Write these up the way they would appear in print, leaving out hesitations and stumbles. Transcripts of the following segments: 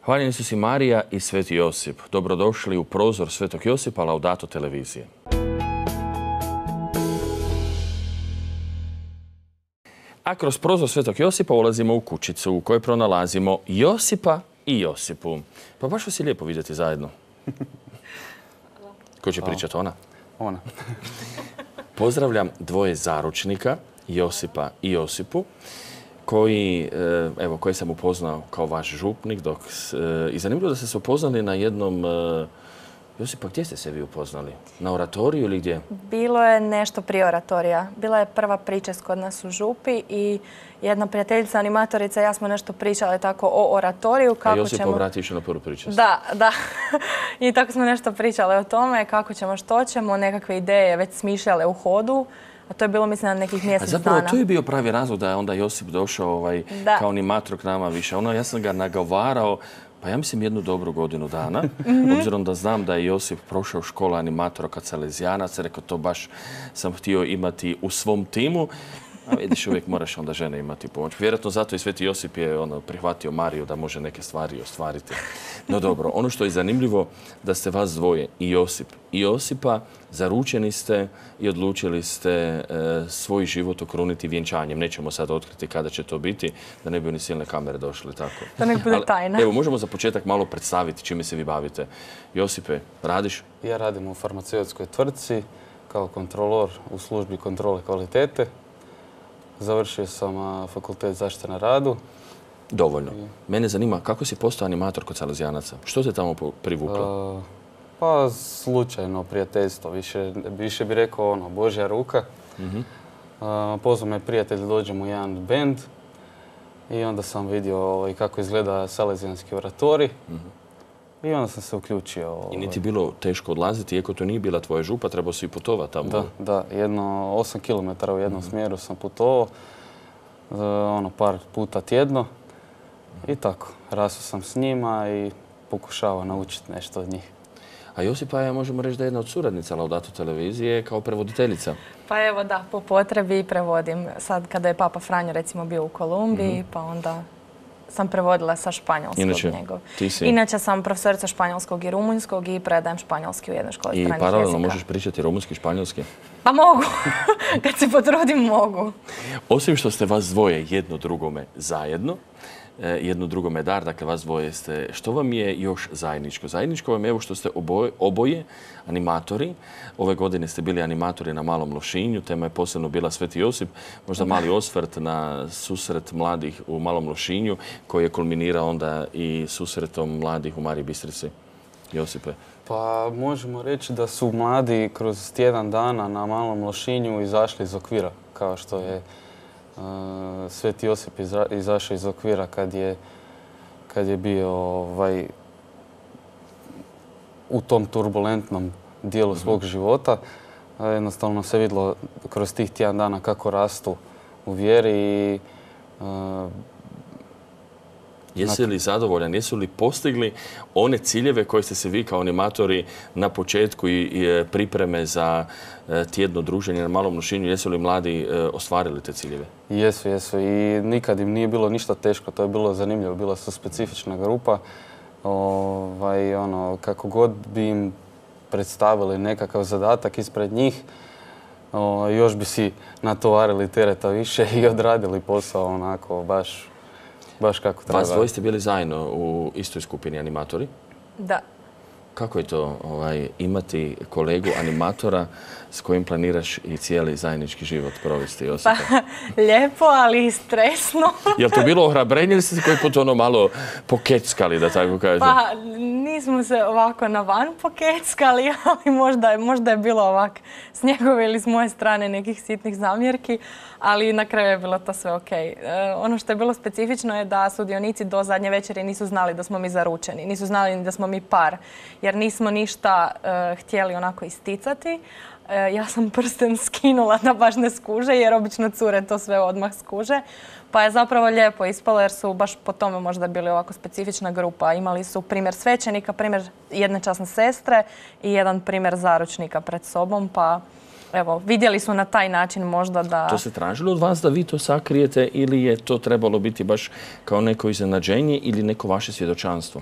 Hvaljeni su si Marija i Sveti Josip. Dobrodošli u prozor Svetog Josipa Laudato televizije. A kroz prozor Svetog Josipa ulazimo u kućicu u kojoj pronalazimo Josipa i Josipu. Pa baš vas je lijepo vidjeti zajedno. Ko će pričati, ona? Ona. Pozdravljam dvoje zaručnika, Josipa i Josipu, koje sam upoznao kao vaš župnik. I zanimljivo da ste se upoznali na jednom... Josipa, gdje ste se vi upoznali? Na oratoriju ili gdje? Bilo je nešto prije oratorija. Bila je prva pričest kod nas u župi i jedna prijateljica, animatorica, ja smo nešto pričali tako o oratoriju. A Josip obrati išao na prvu pričest. Da. I tako smo nešto pričali o tome, kako ćemo, što ćemo, nekakve ideje već smišljale u hodu. A to je bilo, mislim, na nekih mjesec dana. Zapravo, to je bio pravi razlog da je onda Josip došao kao animator k nama više. Ja sam ga nagovarao, pa ja mislim jednu dobru godinu dana, obzirom da znam da je Josip prošao školu animatora kod Salezijanaca, rekao to baš sam htio imati u svom timu. A vidiš, uvijek moraš onda žene imati pomoć. Vjerojatno zato i Sveti Josip je prihvatio Mariju da može neke stvari ostvariti. No dobro, ono što je zanimljivo da ste vas dvoje, i Josip i Josipa, zaručeni ste i odlučili ste svoj život okruniti vjenčanjem. Nećemo sad otkriti kada će to biti, da ne bi ni silne kamere došli tako. Da nek bude tajna. Evo, možemo za početak malo predstaviti čime se vi bavite. Josipe, radiš? Ja radim u farmaceutskoj tvrtci kao kontrolor u službi kontrole kvalitete. Završio sam fakultet zaštite na radu. Dovoljno. Mene zanima kako si postao animator kod Salezijanaca. Što te tamo privuklo? Pa slučajno prijateljstvo. Više bi rekao Božja ruka. Pozvao me prijatelj da dođem u jedan bend i onda sam vidio kako izgleda Salezijanski oratorij. I onda sam se uključio. I nije ti bilo teško odlaziti, iako to nije bila tvoja župa, trebao si i putovati tamo? Da. 8 km u jednom smjeru sam putovao, par puta tjedno. I tako, rastao sam s njima i pokušavao naučiti nešto od njih. A Josipa je, možemo reći, da je jedna od suradnica Laudato televizije kao prevoditeljica. Pa evo da, po potrebi prevodim. Sad kada je Papa Franjo recimo bio u Kolumbiji, pa onda sam prevodila sa španjolskog njegov. Inače sam profesorica španjolskog i rumunjskog i predajem španjolski u jednoj školi stranih jezika. I paralelno možeš pričati rumunjski i španjolski? Pa mogu. Kad se potrudim, mogu. Osim što ste vas dvoje jedno drugome zajedno, jedno drugome dar, dakle vas dvoje ste, što vam je još zajedničko? Zajedničko vam je evo što ste oboje animatori. Ove godine ste bili animatori na Malom Lošinju, tema je posebno bila Sveti Josip, možda mali osvrt na susret mladih u Malom Lošinju, koji je kulminirao onda i susretom mladih u Mariji Bistrici. Josipe? Pa možemo reći da su mladi kroz tjedan dana na Malom Lošinju izašli iz okvira, kao što je Sveti Josip izašao iz okvira kad je bio u tom turbulentnom dijelu svog života. Jednostavno se vidjelo kroz tih tjedan dana kako rastu u vjeri i jesi li zadovoljan? Jesu li postigli one ciljeve koje ste se vi kao animatori na početku i pripreme za tjedno druženje na Malom Lošinju, jesu li mladi ostvarili te ciljeve? Jesu i nikad im nije bilo ništa teško, to je bilo zanimljivo, bila su specifična grupa. Kako god bi im predstavili nekakav zadatak ispred njih, još bi si natovarili tereta više i odradili posao onako baš kako treba. Vas dvoje ste bili zajedno u istoj skupini animatori? Da. Kako je to imati kolegu animatora s kojim planiraš i cijeli zajednički život provesti, Josipa? Pa, lijepo, ali i stresno. Je li to bilo ohrabrenje ili ste se koji put malo pokeckali, da tako kažem? Pa, nismo se ovako na van pokeckali, ali možda je bilo ovak s njegove ili s moje strane nekih sitnih zamjerki, ali na kraju je bilo to sve ok. Ono što je bilo specifično je da sudionici do zadnje večeri nisu znali da smo mi zaručeni, nisu znali ni da smo mi par, jer nismo ništa htjeli onako isticati. Ja sam prsten skinula da baš ne skuže, jer obično cure to sve odmah skuže. Pa je zapravo lijepo ispalo jer su baš po tome možda bili ovako specifična grupa. Imali su primjer svećenika, primjer jedne časne sestre i jedan primjer zaručnika pred sobom. Pa evo, vidjeli su na taj način možda da... To se tražilo od vas da vi to sakrijete ili je to trebalo biti baš kao neko iznenađenje ili neko vaše svjedočanstvo?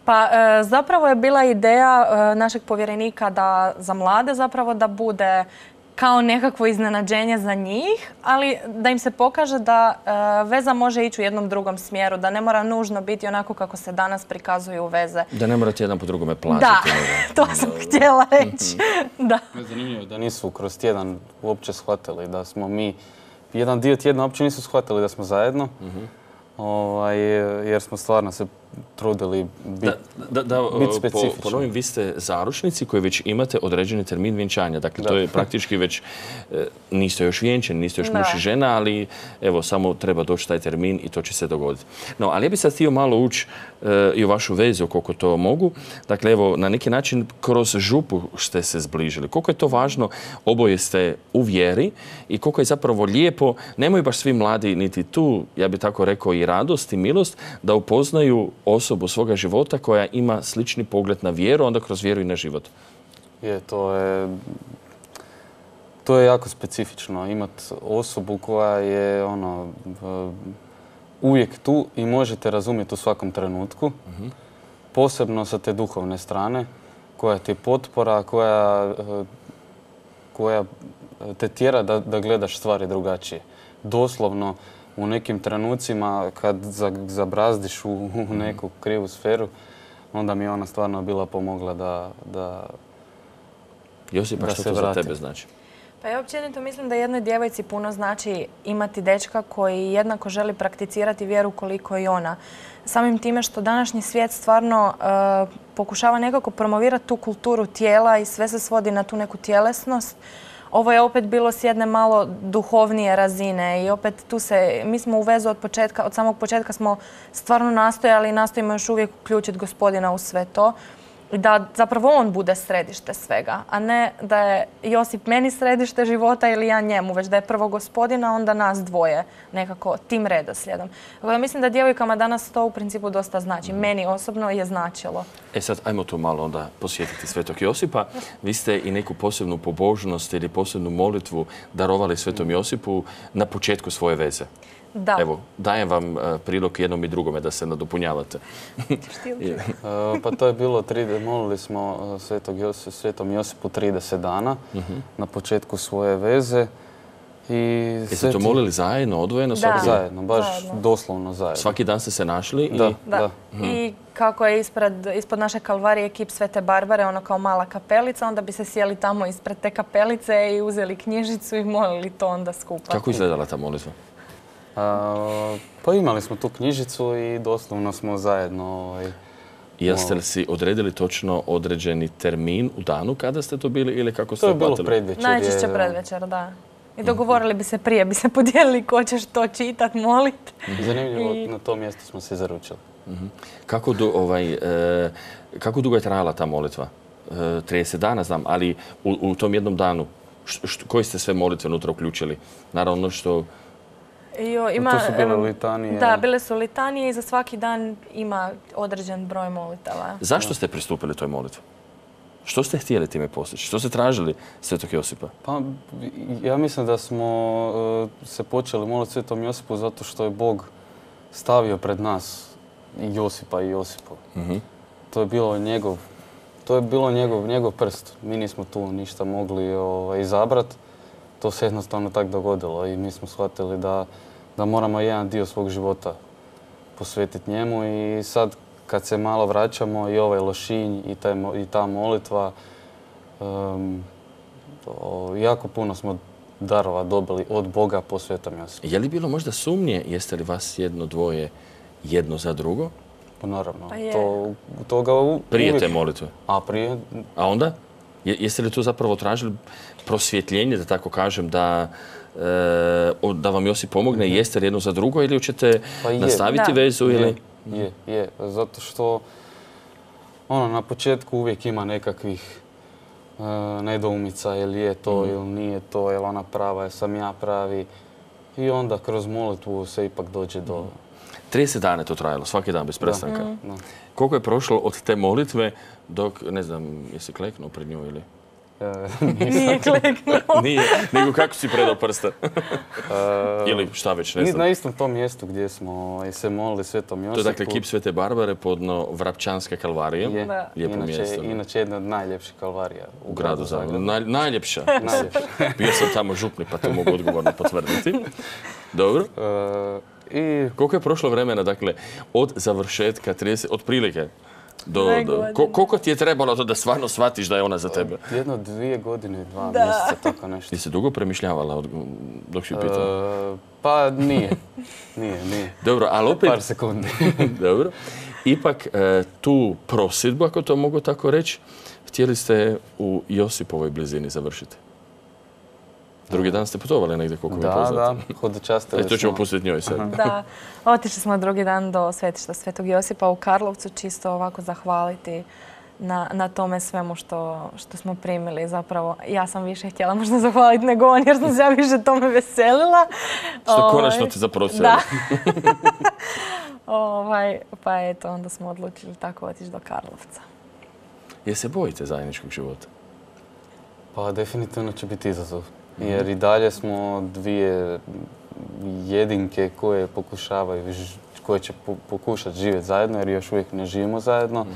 Pa zapravo je bila ideja našeg povjerenika za mlade zapravo da bude kao nekakvo iznenađenje za njih, ali da im se pokaže da veza može ići u jednom drugom smjeru, da ne mora nužno biti onako kako se danas prikazuju veze. Da ne morate jedan po drugome plaćati. Da, to sam htjela reći. Da. Zanimljivo da nisu kroz tjedan uopće shvatili da smo mi, jedan dio tjedna uopće nisu shvatili da smo zajedno, jer smo stvarno se trudili biti specifični. Ponovim, vi ste zaručnici koji već imate određeni termin vjenčanja. Dakle, to je praktički već, niste još vjenčani, niste još muž i žena, ali evo, samo treba doći taj termin i to će se dogoditi. No, ali ja bih sad htio malo ući i u vašu vezu koliko to mogu. Dakle, evo, na neki način kroz župu ste se zbližili. Koliko je to važno, oboje ste u vjeri i koliko je zapravo lijepo, nemaju baš svi mladi niti tu, ja bih tako rekao, i radost i milost, da upoznaju osobu svoga života koja ima slični pogled na vjeru, onda kroz vjeru i na život. To je jako specifično. Imati osobu koja je uvijek tu i možete razumjeti u svakom trenutku. Posebno sa te duhovne strane, koja ti je potpora, koja te tjera da gledaš stvari drugačije. Doslovno, u nekim trenucima kad zabrazdiš u neku krivu sferu, onda mi je ona stvarno bila pomogla da Josipa, što to za tebe znači? Pa ja općenito mislim da jednoj djevojci puno znači imati dečka koji jednako želi prakticirati vjeru koliko i ona. Samim time što današnji svijet stvarno pokušava nekako promovirati tu kulturu tijela i sve se svodi na tu neku tjelesnost. Ovo je opet bilo s jedne malo duhovnije razine i opet mi smo u vezu od samog početka smo stvarno nastojali i nastojimo još uvijek uključiti Gospodina u sve to. I da zapravo on bude središte svega, a ne da je Josip meni središte života ili ja njemu, već da je prvo Gospodina, onda nas dvoje nekako tim redoslijedom. Mislim da djevojkama danas to u principu dosta znači. Meni osobno je značilo. Sad, ajmo tu malo onda posjetiti Svetog Josipa. Vi ste i neku posebnu pobožnost ili posebnu molitvu darovali Svetom Josipu na početku svoje veze. Da. Evo, dajem vam prilog jednom i drugome da se nadopunjavate. Pa to je bilo, molili smo Svetom Josipu 30 dana na početku svoje veze. Jeste to molili zajedno, odvojeno? Zajedno, baš doslovno zajedno. Svaki dan ste se našli? Da. I kako je ispod naše kalvarije kip Svete Barbare, ono kao mala kapelica, onda bi se sjeli tamo ispred te kapelice i uzeli knjižicu i molili to onda skupa. Kako izgledala ta molitva? Pa imali smo tu knjižicu i doslovno smo zajedno... Jeste li si odredili točno određeni termin u danu kada ste to bili ili kako ste uplatili? To je bilo predvečer. Najčešće predvečer, da. I dogovorili bi se prije, bi se podijelili ko ćeš to čitat, molit. Zanimljivo, na tom mjestu smo se zaručili. Kako dugo je trajala ta molitva? 30 dana znam, ali u tom jednom danu koji ste sve molitve unutra uključili? Naravno što... To su bile litanije. Da, bile su litanije i za svaki dan ima određen broj molitava. Zašto ste pristupili toj molitvi? Što ste htjeli time postići? Što ste tražili Svetog Josipa? Pa, ja mislim da smo se počeli moliti Svetom Josipu zato što je Bog stavio pred nas i Josipa i Josipu. To je bilo njegov prst. Mi nismo tu ništa mogli izabrati. To se jednostavno tako dogodilo i mi smo shvatili da moramo jedan dio svog života posvetiti njemu i sad kad se malo vraćamo i ovaj Lošinj i ta molitva, jako puno smo darova dobili od Boga po Svetom Josipu. Je li bilo možda sumnje, jeste li vas jedno, dvoje, jedno za drugo? Pa naravno. Prije te molitve? Prije. A onda? Jeste li tu zapravo tražili prosvjetljenje, da tako kažem, da vam Josip pomogne? Jeste li jedno za drugo ili ćete nastaviti vezu? Je. Zato što na početku uvijek ima nekakvih nedoumica, je li je to ili nije to, je li ona prava, je sam ja pravi. I onda kroz molitvu se ipak dođe do... 30 dana je to trajalo, svaki dan bez prestanka. Koliko je prošlo od te molitve dok, ne znam, jesi kleknuo pred nju ili... Nije kliknuo. Nije, nego kako si predao prste? Ili šta već, ne znam. Na istom tom mjestu gdje smo i se molili Svetom Josipu. To je dakle kip Svete Barbare podno Vrapčanske kalvarije. Lijepo mjesto. Inače jedna od najljepših kalvarija u gradu Zagrebu. Najljepša. Bio sam tamo župnik pa to mogu odgovorno potvrditi. Dobro. Koliko je prošlo vremena, dakle, od završetka 30, otprilike, koliko ti je trebalo to da stvarno shvatiš da je ona za tebe? 1-2 godine, 2 mjeseca, tako nešto. Ti se dugo premišljavala dok si pitala? Pa nije. Dobro, ali opet... Par sekundi. Dobro. Ipak tu prosjedbu, ako to mogu tako reći, htjeli ste u Josipovoj blizini završiti. Drugi dan ste putovali negdje, koliko mi je poznato. Da, hodočastili smo. To ćemo pustiti njoj sad. Da, otišli smo drugi dan do svetišta Svetog Josipa u Karlovcu, čisto ovako zahvaliti na tome svemu što smo primili. Zapravo, ja sam više htjela možda zahvaliti nego on, jer sam se ja više tome veselila. Što konačno ti zaprosili. Da. Pa eto, onda smo odlučili tako otići do Karlovca. Je se bojite zajedničkog života? Pa definitivno će biti izazov. Jer i dalje smo dvije jedinke koje pokušavaju, koje će pokušati živjeti zajedno, jer još uvijek ne živimo zajedno.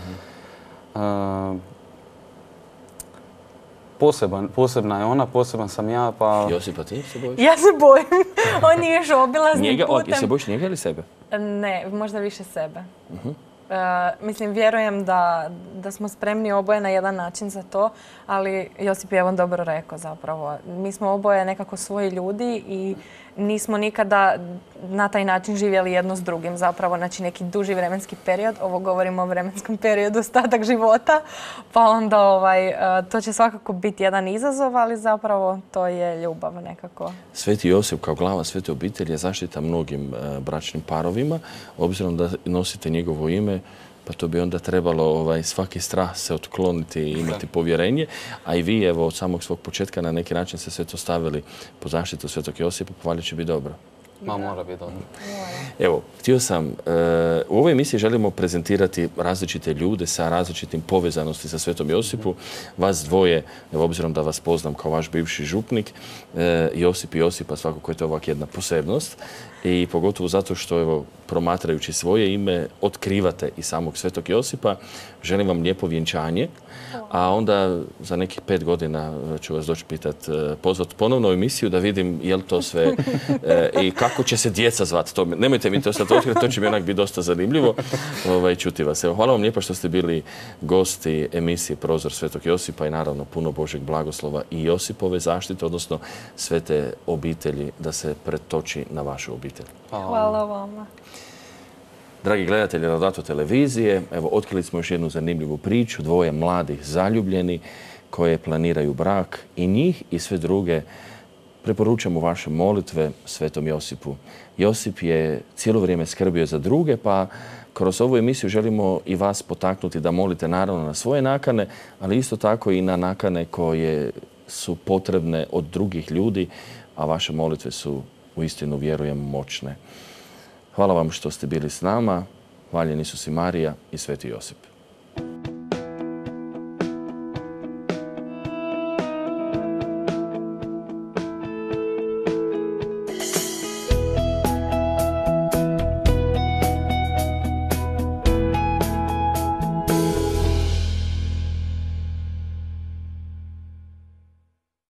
Posebna je ona, poseban sam ja, pa... Josipa, ti se bojiš? Ja se bojim. On je još obilaznim putem. Jesi se bojiš njega ili sebe? Ne, možda više sebe. Mislim, vjerujem da smo spremni oboje na jedan način za to, ali Josip je on dobro rekao zapravo. Mi smo oboje nekako svoji ljudi i nismo nikada na taj način živjeli jedno s drugim zapravo, znači neki duži vremenski period. Ovo govorimo o vremenskom periodu, ostatak života, pa onda to će svakako biti jedan izazov, ali zapravo to je ljubav nekako. Sveti Josip kao glava svete obitelji je zaštita mnogim bračnim parovima, obzirom da nosite njegovo ime. Pa to bi onda trebalo svaki strah se otkloniti i imati povjerenje. A i vi, evo, od samog svog početka na neki način ste sve to stavili pod zaštitu Svetog Josipa, pa valjda će biti dobro. Mora biti dobro. Evo, htio sam, u ovoj emisiji želimo prezentirati različite ljude sa različitim povezanosti sa Svetom Josipu. Vas dvoje, evo, obzirom da vas poznam kao vaš bivši župnik, Josip i Josipa, svakako je to ovak jedna posebnost. I pogotovo zato što, evo, promatrajući svoje ime, otkrivate i samog Svetog Josipa. Želim vam lijepo vjenčanje, a onda za nekih 5 godina ću vas doći pozvati ponovno u emisiju da vidim je li to sve i kako će se djeca zvati. Nemojte mi to sad otkriti, to će mi onak biti dosta zanimljivo čuti vas. Evo, hvala vam lijepo što ste bili gosti emisije Prozor Svetog Josipa i naravno puno Božeg blagoslova i Josipove zaštite, odnosno svete obitelji da se pretoči na vašu obitelj. Hvala vama. Dragi gledatelji Laudato televizije, evo, otkrili smo još jednu zanimljivu priču, dvoje mladih zaljubljeni koje planiraju brak i njih i sve druge preporučamo vaše molitve Svetom Josipu. Josip je cijelo vrijeme skrbio za druge, pa kroz ovu emisiju želimo i vas potaknuti da molite naravno na svoje nakane, ali isto tako i na nakane koje su potrebne od drugih ljudi, a vaše molitve su uistinu, vjerujem, moćne. Hvala vam što ste bili s nama. Hvaljen Isus i Marija i Sveti Josip.